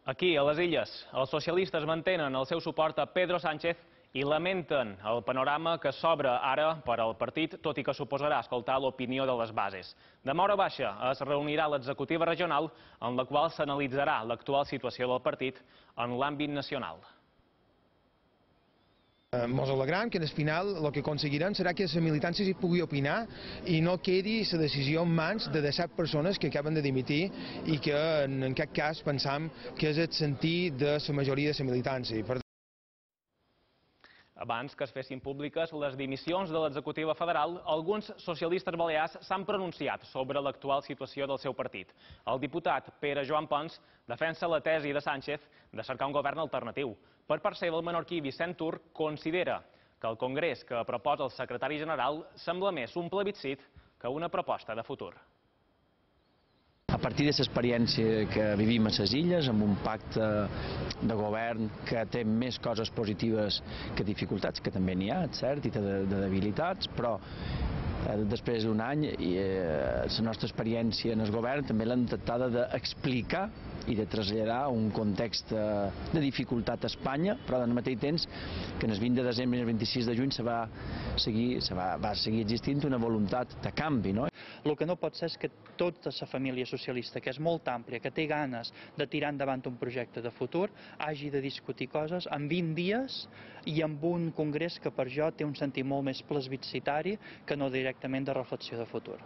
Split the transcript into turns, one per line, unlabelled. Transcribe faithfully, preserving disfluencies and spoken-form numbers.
Aquí, a les Illes, els socialistes mantenen el seu suport a Pedro Sánchez i lamenten el panorama que s'obre ara per al partit, tot i que suposarà escoltar l'opinió de les bases. Demà hora baixa es reunirà l'executiva regional en la qual s'analitzarà l'actual situació del partit en l'àmbit nacional.
Ens alegrem que al final el que aconseguirem serà que la militància s'hi pugui opinar i no quedi la decisió en mans de disset persones que acaben de dimitir i que en aquest cas pensam que és el sentit de la majoria de la militància.
Abans que es fessin públiques les dimissions de l'executiva federal, alguns socialistes balears s'han pronunciat sobre l'actual situació del seu partit. El diputat Pere Joan Pons defensa la tesi de Sánchez de cercar un govern alternatiu. Per part seva, el menorquí Vicent Tur considera que el congrés que proposa el secretari general sembla més un plebiscit que una proposta de futur.
A partir de l'experiència que vivim a les Illes, amb un pacte de govern que té més coses positives que dificultats, que també n'hi ha, cert, i té de, de debilitats, però eh, després d'un any i, eh, la nostra experiència en el govern també l'hem tractada d'explicar i de traslladar un context de dificultat a Espanya, però al mateix temps que el vint de desembre i el vint-i-sis de juny se va seguir, se va, va seguir existint una voluntat de canvi, no?
El que no pot ser és que tota la família socialista, que és molt àmplia, que té ganes de tirar endavant un projecte de futur, hagi de discutir coses en vint dies i amb un congrés que per jo té un sentit molt més plebiscitari que no directament de reflexió de futur.